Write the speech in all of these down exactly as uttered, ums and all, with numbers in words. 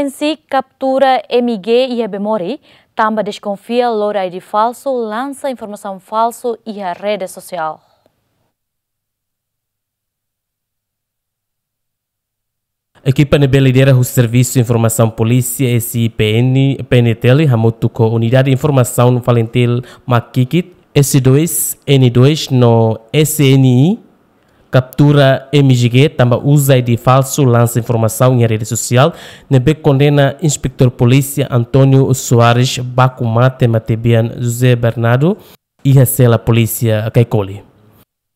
PENSIK kaptura M G iha Bemori, tanba deskonfia lori I D falsu, lansa informasaun falsu iha rede sosiál. Ekipa ne'ebé lidera husi Servisu Informasaun Polísia S I P N, P N T L, hamutuk ho Unidade Informasaun Falintil Makikit, S dois, N dois no S N I, kaptura M G G tanba uza I D falsu, lansa informasaun iha rede sosiál, ne'ebé kondena Inspetór Polísia António Soares baku mate matebian José Bernardo iha sela polísia Caicoli.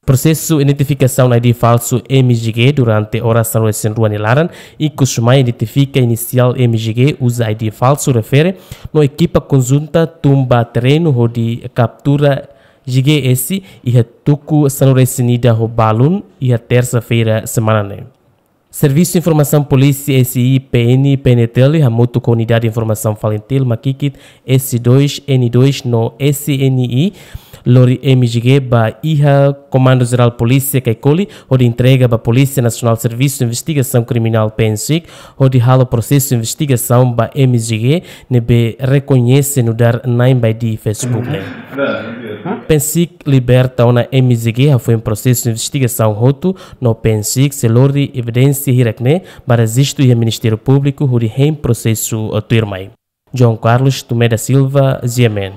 Prosesu identifikasaun I D falsu M G G durante oras sanulu-resin-rua nia laran, ikus mai identifika inisiál M G G uza I D falsu refere, no ekipa konjunta tun ba terrenu hodi kaptura G G S iha tuku sanulu-resin-ida ho balun iha tersa-feira semana ne'e. Servisu Informasaun Polísia S I P N, P N T L, hamutuk ho Unidade Informasaun Falintil Makikit, S dois, N dois no S N I, lori M G G ba iha Komandu Jerál Polísia Caicoli, hodi entrega ba Polísia Nasionál Servisu Investigasaun Kriminál, PENSIK, hodi halo prosesu investigasaun ba M G G ne'ebé rekoñese nu'udar na'in ba I D Facebook ne'e. PENSIK liberta ona M G G hafoin prosesu investigasaun hotu, no PENSIK sei lori evidénsia hirak-ne'e ba rejistu iha Ministériu Públiku hodi hein prosesu, eh, tuirmai. João Carlos Tomé da Silva, G M N.